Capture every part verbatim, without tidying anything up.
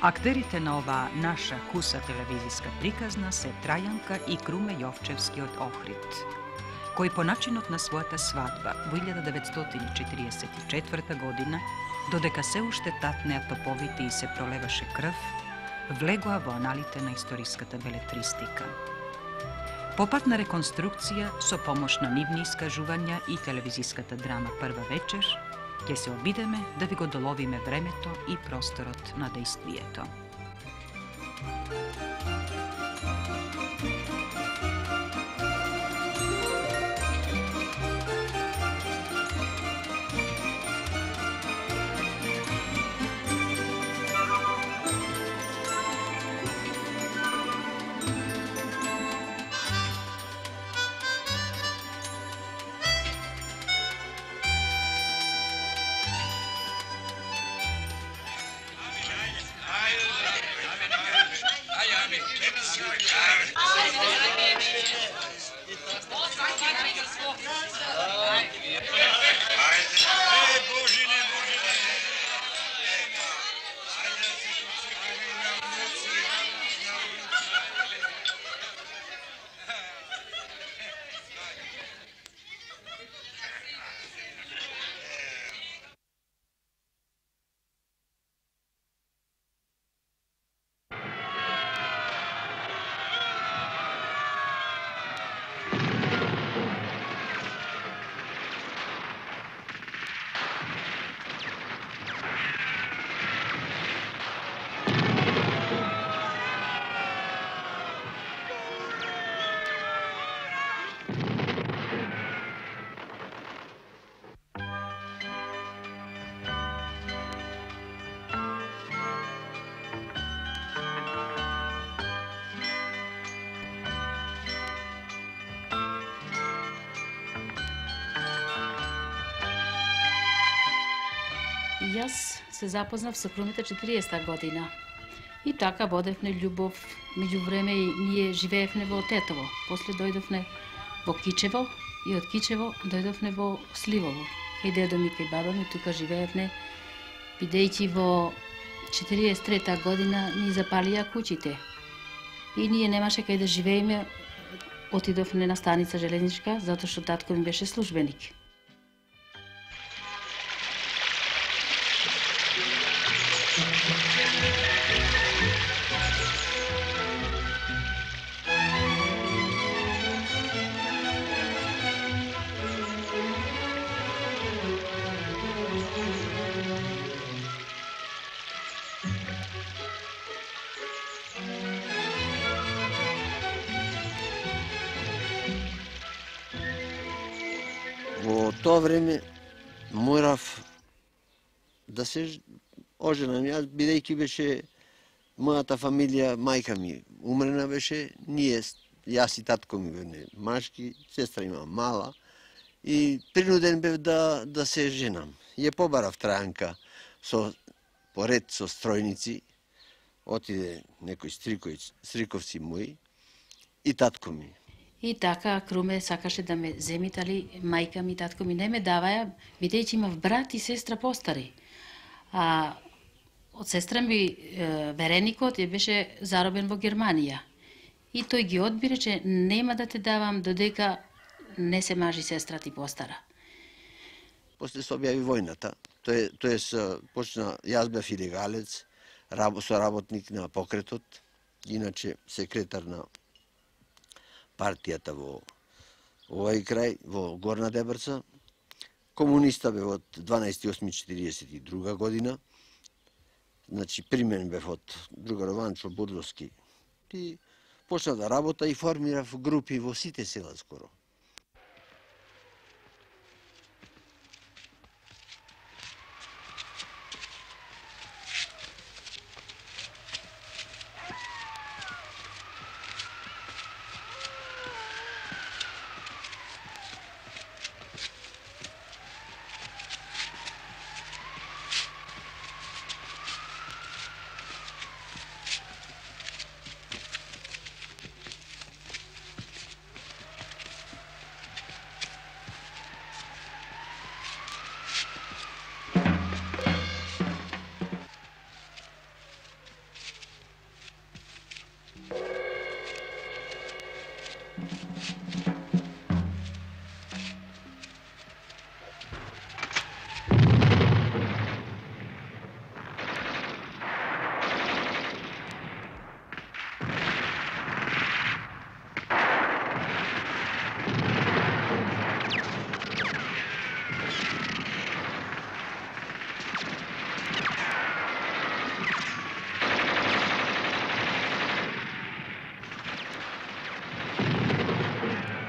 Актерите на оваа наша куса телевизиска приказна се Трајанка и Круме Јовчевски од Охрид, кои по начинот на својата свадба во илјада деветстотини четиридесет и четврта година, додека се уште татнеа топовите и се пролеваше крв, влегоа во аналите на историската белетристика. По пат на реконструкција, со помош на нивни искажувања и телевизиската драма Прва вечер, ќе се обидеме да ви го доловиме времето и просторот на дејствието. Јас се запознав со Крумите четириесетта година. И така водевме љубов, меѓу време и ние живеевме во Тетово. После дојдовме во Кичево и од Кичево дојдовме во Сливово. Кај дедо ми, кај баба ми, тука живеевме, бидејќи во четириесет и трета година ни запалија куќите. И ние немаше кај да живееме, отидовме на станица железничка, затоа што татко ми беше службеник. Во тоа време морав да се оженам јас, бидејќи беше мојата фамилија, мајка ми умрена беше, ние, јас и татко ми бевме машки, сестра има мала и принуден бев да, да се женам. Ја побарав Трајанка со поред со стројници, отиде некој стриковици, стриковци мои и татко ми. И така Круме сакаше да ме земит, али мајка ми и татко ми не ме даваја, бидејќи имав брат и сестра постари. А од сестра ми вереникот ја беше заробен во Германија. И тој ги одби, рече, нема да те давам додека не се мажи сестра ти постара. После се објави војната, тој, тој почна, јас бев илегалец, соработник на покретот, иначе секретар на партијата во овој крај, во Горна Дебрца. Комуниста бев од дванаесети осми четириесет и друга година. Значи, примен бев од другарот Ванчо Будловски. И почна да работа и формирав групи во сите села скоро.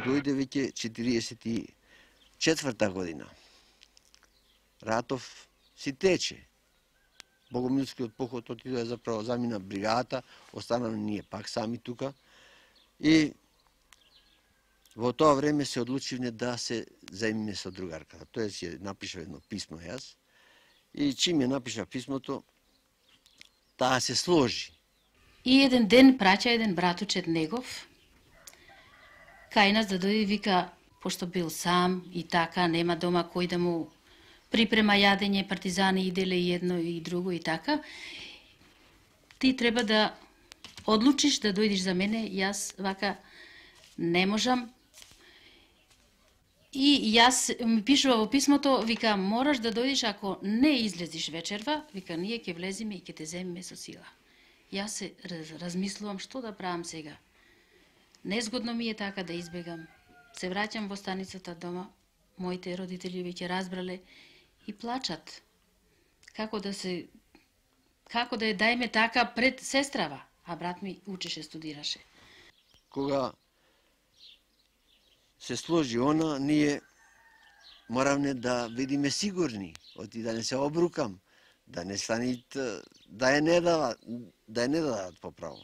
дојде веќе четириесет и четврта година. Ратов си тече. Богомилскиот поход отиде заправо замина бригадата, останаме ние пак сами тука. И во тоа време се одлучивме да се заемиме со другарката. Тој си напишав едно писмо јас. И чим ја напишав писмото, таа се сложи. И еден ден праќа еден братучет негов, кај нас да дојде, вика, пошто бил сам и така, нема дома кој да му припрема јадење, партизани иделе и едно и друго и така, ти треба да одлучиш да дојдеш за мене, јас вака не можам. И јас ми пишува во писмото, вика, мораш да дојдеш, ако не излезиш вечерва, вика, ние ќе влеземе и ќе те земеме со сила. Јас се размислувам што да правам сега. Незгодно ми е така да избегам. Се враќам во станицата дома, моите родители веќе разбрале и плачат. Како да се како да ја дајме така пред сестрава, а брат ми учеше, студираше. Кога се сложи она, ние моравме да видиме сигурни, оти да не се обрукам, да не станит, да ја не дадат, да ја не дадат поправо.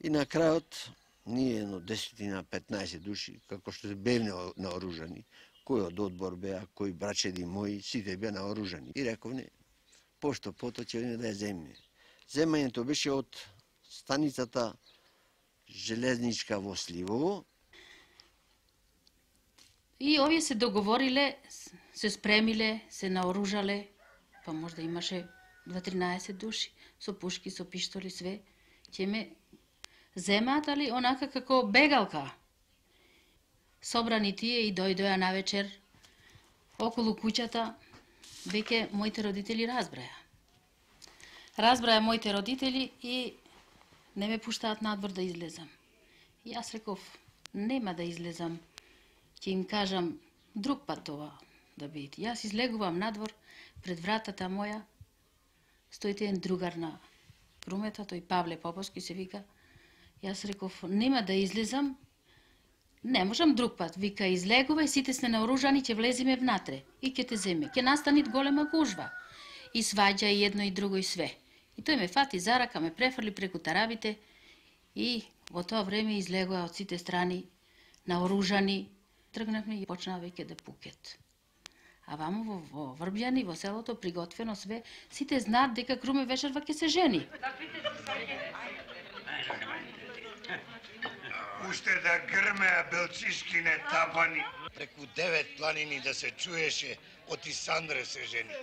И на крајот, ние едно десетина, петнаесет души, како што се бевне наоружани, кој од одбор беа, кој брачеди мои, сите беа наоружани. И рековне, пошто пото ќе видиме да ја земеме. Земањето беше од станицата железничка во Сливово. И овие се договориле, се спремиле, се наоружале, па можда имаше дваесет души, со пушки, со пиштоли, све. Ќе ме земаат, али онака како бегалка. Собрани тие и дојдоја навечер околу куќата, веќе моите родители разбраја. Разбраја моите родители и не ме пуштаат надвор да излезам. И јас реков, нема да излезам, ќе им кажам друг пат това да биде. Јас излегувам надвор, пред вратата моја стоите еден другар на Крумета, тој Павле Поповски се вика. Јас реков, нема да излезам, не можам друг пат. Вика, излегувај, сите сте наоружани, ќе влеземе внатре и ќе те земе. Ќе настанит голема гужва. И сваѓа и едно и друго и све. И тој ме фати за рака, ме префрли преку тарабите и во тоа време излегува од сите страни наоружани. Тргнавме и почнаа веќе да пукет. А вамо во, во Врбјани, во селото, приготвено све, сите знаат дека Круме вечерва ќе се жени. Уште да грмеа белчишкине табани. Преку девет планини да се чуеше, оти Сандре се жени.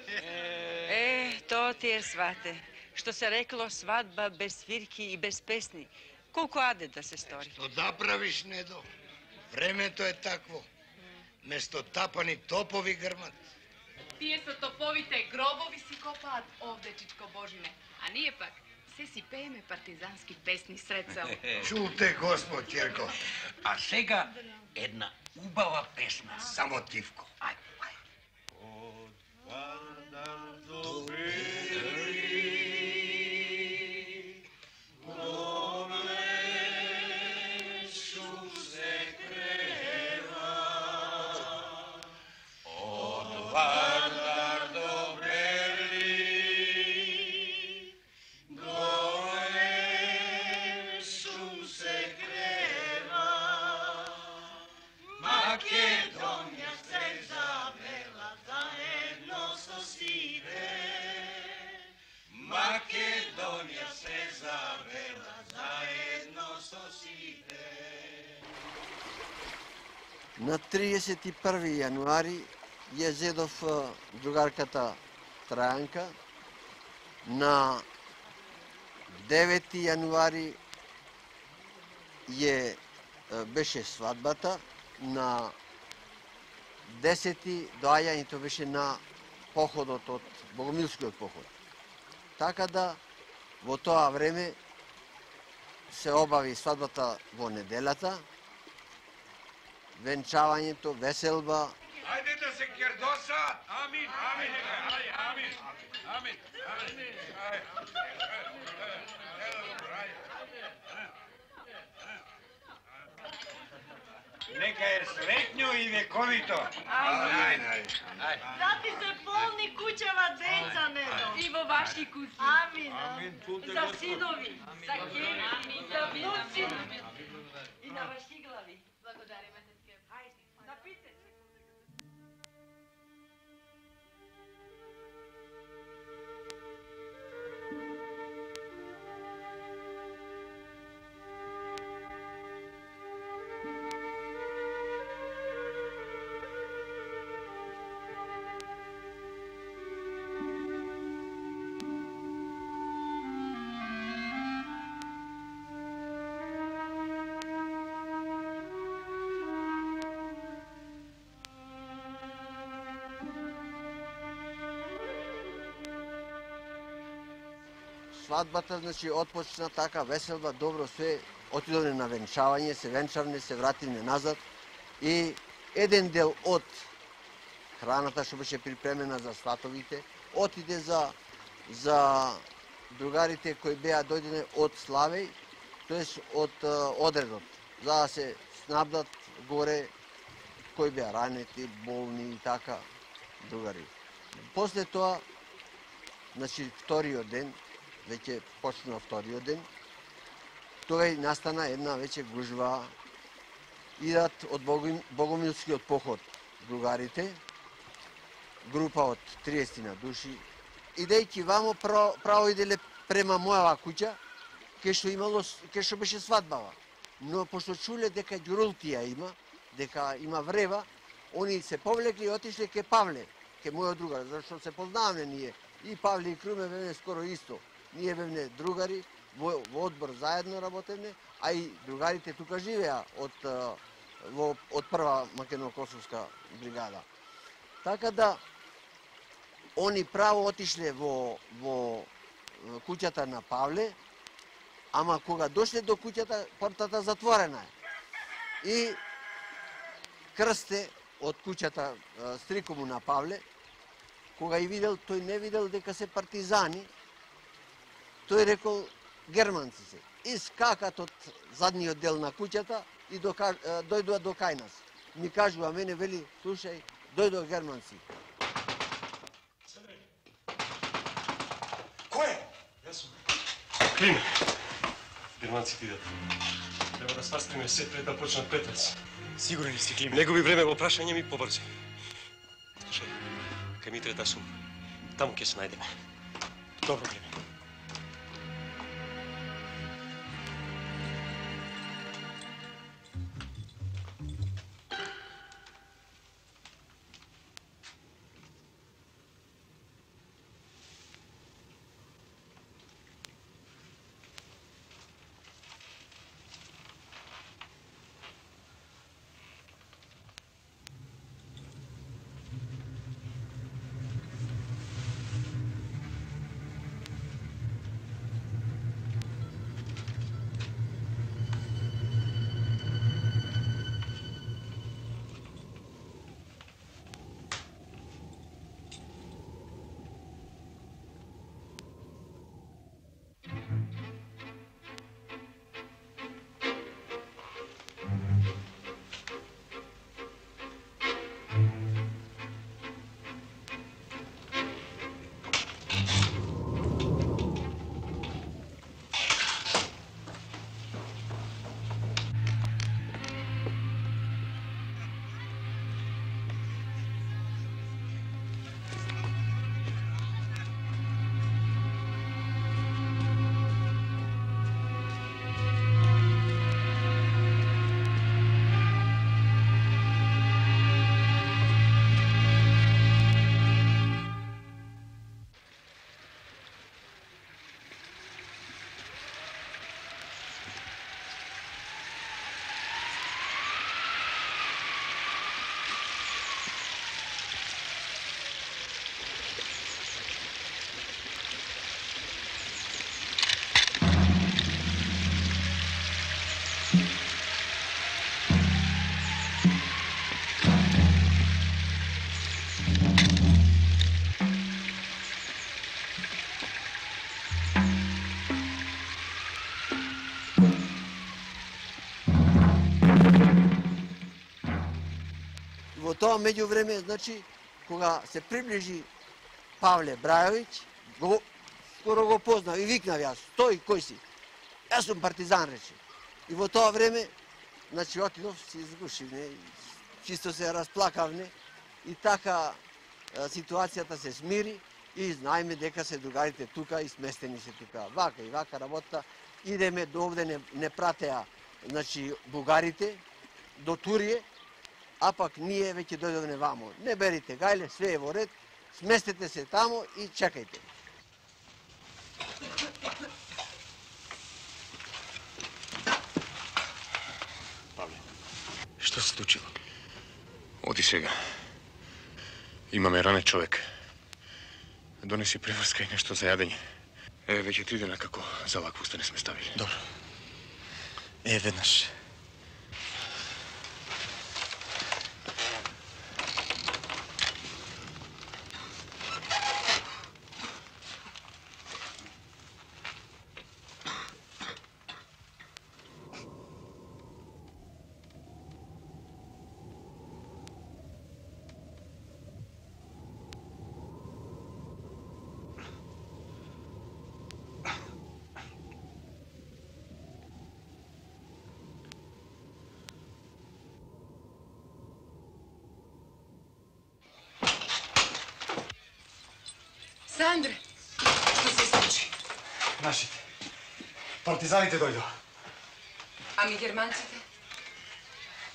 Е, тоа ти е, свате. Што се рекло, свадба без свирки и без песни. Колку аде да се стори. Што да правиш, Недо? Времето е такво. Место тапани топови грмат. Тие со топовите гробови си копаат овде, Чичко Божине. А ние пак се си пееме партизански песни сред село. Чулте, Господ Ќерко. А сега една убава песна. Само тивко. Ај, ај. На триесет и први јануари ја зедов другарката Трајанка. На девети јануари ја беше свадбата. На десети доаѓањето беше на походот од Богомилскиот поход. Така да во тоа време се обави свадбата во неделата, венчавањето, веселба. Ајде да се кердоса! Амин, амин, ај, амин, амин, амин. Нека е среќно и вековито. Ајде, ајде. Зати се полни куќева деца, недо. И во ваши куќи. Амин. Амин. За синови, за ќери, за внуци. И на ваши глави. Благодариме, тетке. Ајде, напите се. Свадбата, значи, отпочна така, веселба, добро, све, отидовме на венчавање, се венчавне, се вративме назад и еден дел од храната што беше припремена за сватовите, отиде за за другарите кои беа дојдене од Славеј, тоест од одредот, за да се снабдат горе кои беа ранети, болни и така другари. После тоа, значи, вториот ден, веќе почнува вториот ден, тој настана една веќе гужва, идат од Богомилскиот поход другарите, група од триесет души, идејќи вамо право, право иделе према мојава куќа, ке што имало, ке што беше свадбава. Но пошто чуле дека ѓурултија има, дека има врева, они се повлекли и отишле ке Павле, ке мојот другар, зашто се познаваме ние. И Павле и Круме бевне скоро исто. Ние бевне другари, во, во одбор заедно работевне, а и другарите тука живеа од, во, од прва македонско-косовска бригада. Така да, они право отишле во, во куќата на Павле, ама кога дошле до куќата, портата затворена е. И Крсте од куќата стрикому на Павле, кога и видел, тој не видел дека се партизани, тој рекол германци се. И скакат од задниот дел на куќата и дојдоа до кај нас. Ми кажува мене, вели, слушај, дојдоа германци. Кој е? Јас сум. Климе. Германците идат. Треба да свастиме се пред да почнат петец. Сигурен ли си, Климе? Не губи време во прашање ми, побрзи. Слушај, кај Митрета сум. Таму ќе се најдеме. Добро, Климе. во тоа меѓувреме, значи, кога се приближи Павле Брајовиќ, го, скоро го познав и викнав јас, стој, кој си? Јас сум партизан, рече. И во тоа време, значи, отидов, се изгушив, не, чисто се расплакав, не, и така ситуацијата се смири и знаеме дека се другарите тука и сместени се тука. Вака и вака работа, идеме до овде, не, не пратеа, значи, бугарите, до Турие, а пак ние веќе дојдовме вамо. Не берите гајле, све е во ред, сместете се тамо и чекајте. Павле, што се случило? Оди сега. Имаме ранен човек. Донеси преврска и нешто за јадење. Е, веќе три дена како за вакво не сме ставили. Добро. Е, веднаш. Сандре, што се случи? Нашите. Партизаните дојдоа. Ами германците?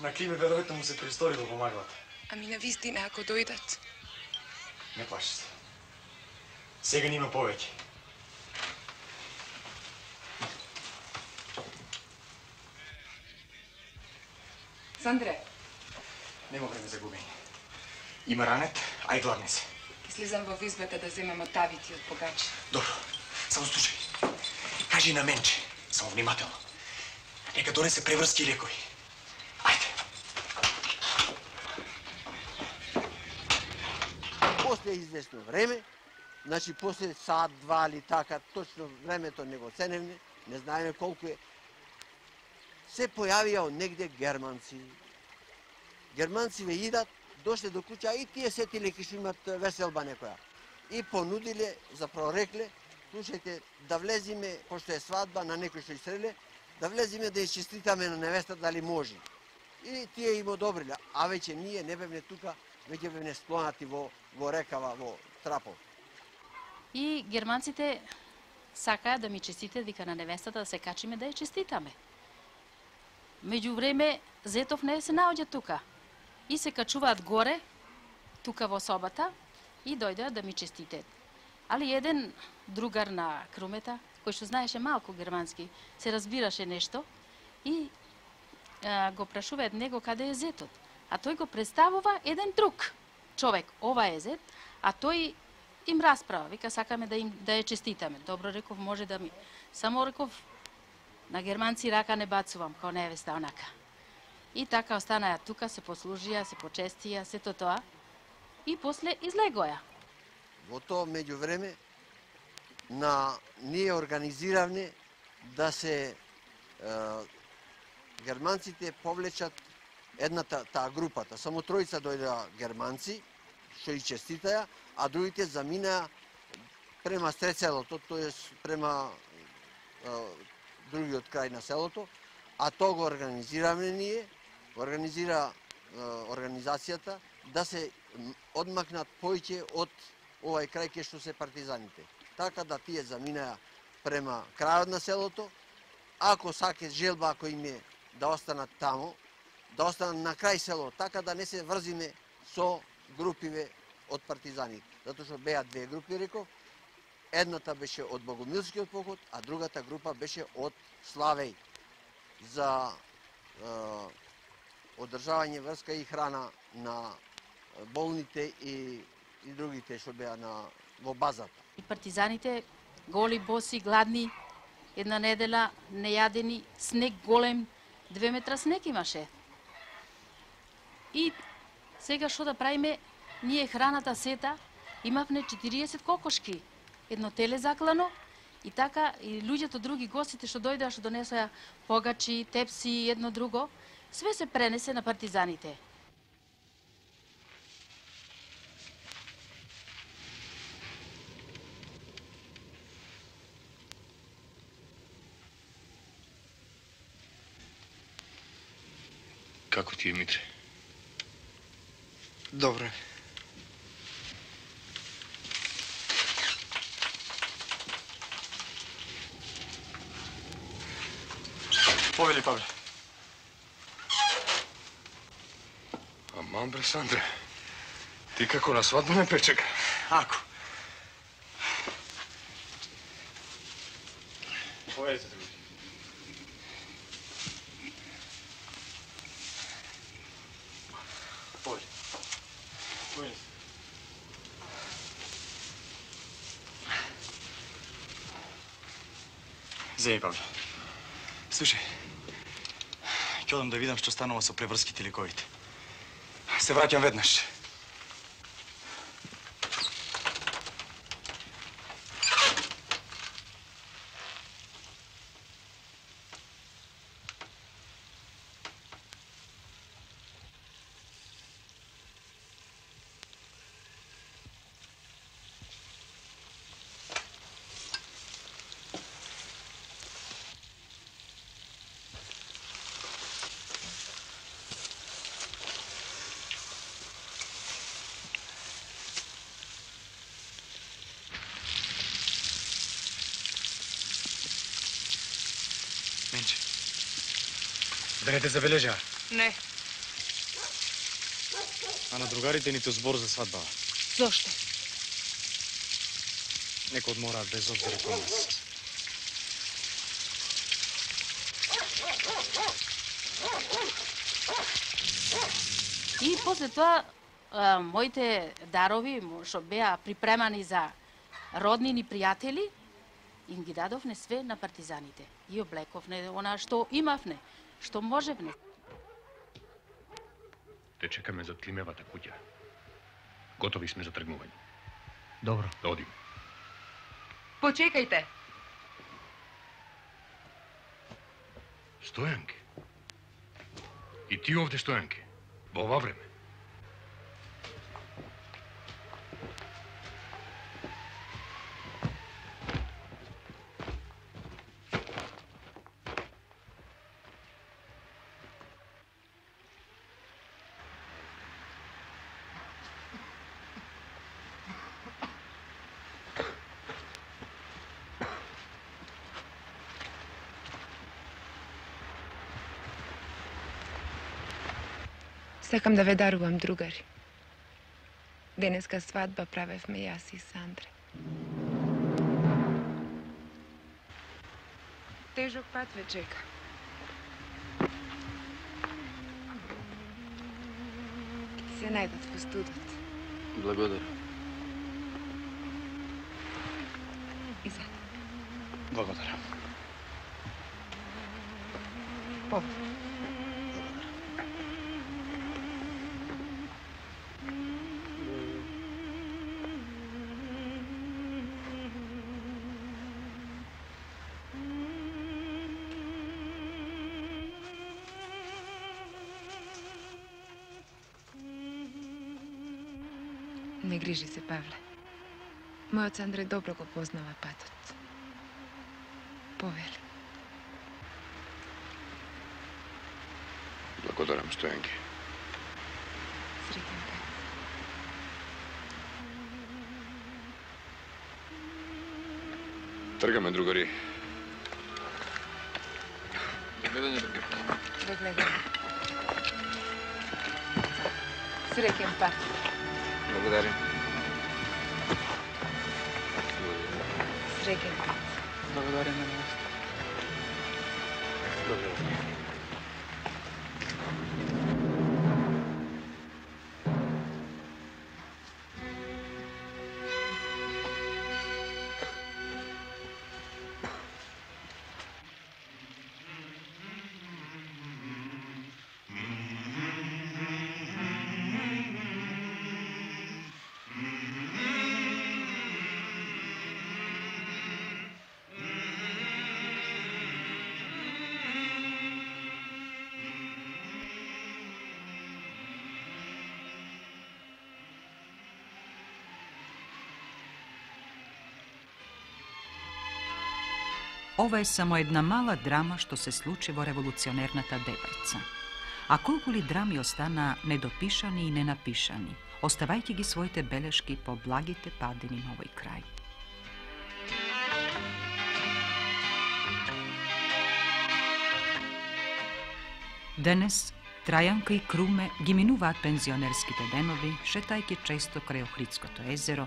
На Климе веројатно му се пристори да помагаат. Ами на вистина, ако дојдат? Не плаши се. Сега нима повеќе. Сандре. Нема време за губење. Има ранет, а и гладни се. Слизам во избата да земам отавити од богачи. Добро, само слушај. Кажи на менче, само внимателно. Нека донесе преврски лекови. Ајде. После известно време, значи после сат, два или така, точно времето не го ценевме, не знаеме колку е, се појавија од негде германци. Германци ве идат, дошле до куќа и тие сетиле ке што имат веселба некоја. И понудиле, заправо рекле, слушајте, да влезиме, пошто е свадба на некој што изстреле, да влезиме да изчеститаме на невеста дали може. И тие им одобриле, а веќе ние не бевне тука, веќе бевне склонати во, во рекава, во Трапов. И германците сакаат да ми честите дека на невестата да се качиме да ја честитаме. Меѓувреме, Зетов не се наоѓа тука. И се качуваат горе, тука во собата, и дојдеа да ми честитат. Али еден другар на Крумета, кој што знаеше малку германски, се разбираше нешто и а, го прашуваат него каде е Зетот. А тој го представува еден друг човек. Ова е Зет, а тој им расправа. Вика, сакаме да им да ја честитаме. Добро, реков, може да ми... Само реков, на германци рака не бацувам, као невеста онака. И така останаја тука, се послужија, се почестија, сето тоа. И после излегоја. Во тоа меѓувреме, на ние организиравме да се е, германците повлечат едната таа групата. Само тројца дојдеа германци, што и честитаја, а другите заминаа према Стрецелото, тоа према е, другиот крај на селото, а тоа го организиравме ние, организира е, организацијата да се одмакнат поиќе од овај крај ке што се партизаните. Така да тие заминаја према крајот на селото, ако саке желба, ако им е да останат тамо, да останат на крај село, така да не се врзиме со групиве од партизани. Затоа што беа две групи, реков, едната беше од Богомилскиот поход, а другата група беше од Славеј за е, одржавање врска и храна на болните и, и другите што беа на, во базата. И партизаните, голи, боси, гладни, една недела нејадени, снег голем, две метра снег имаше. И сега што да правиме, ние храната сета, имавме четириесет кокошки, едно теле заклано, и така, и луѓето други гостите што дојдеа, што донесоа погачи, тепси, едно друго, све се пренесе на партизаните. Како ти е, Митре? Добро е. Повели, Павле. Аман, бре, Сандре. Ти како на свадба ме пречека? Ако. Повелите, други. Повели. Повели. Зеј, Павле. Слушај, ќе одам да видам што станува со преврските ликовите. Се враќам веднаш. Менче, да не те забележа? Не. А на другарите нито збор за свадбава. Зошто? Нека одмораат без обзир кон нас. И после тоа, а, моите дарови, што беа припремани за роднини пријатели, им ги дадовне све на партизаните. И облековне она што имавне, што можевне. Те чекаме за Климевата куќа. Готови сме за тргнување. Добро. Да одиме. Почекајте. Стојанке. И ти овде, Стојанке. Во ова време. Сакам да ве дарувам, другари. Денеска свадба правевме јас и Сандре. Тежок пат ве чека. Ќе се најдат во студот. Благодарам. И за. Благодарам. Повод. Не грижи се, Павле. Мојот Сандре добро го познава патот. Повели. Благодарам, Стојанке. Среќен пат. Тргаме, другари. Гледање, другари. До гледање. Среќен пат. Благодарим. Среќен пат. Благодарим на вас. Благодарам. Ова е само една мала драма што се случи во револуционерната Дебрца. А колку ли драми остана недопишани и ненапишани, оставајќи ги своите белешки по благите падини на овој крај. Денес Трајанка и Круме ги минуваат пензионерските денови, шетајќи често крај Охридското езеро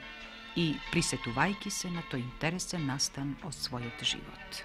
и присетувајќи се на тој интересен настан од својот живот.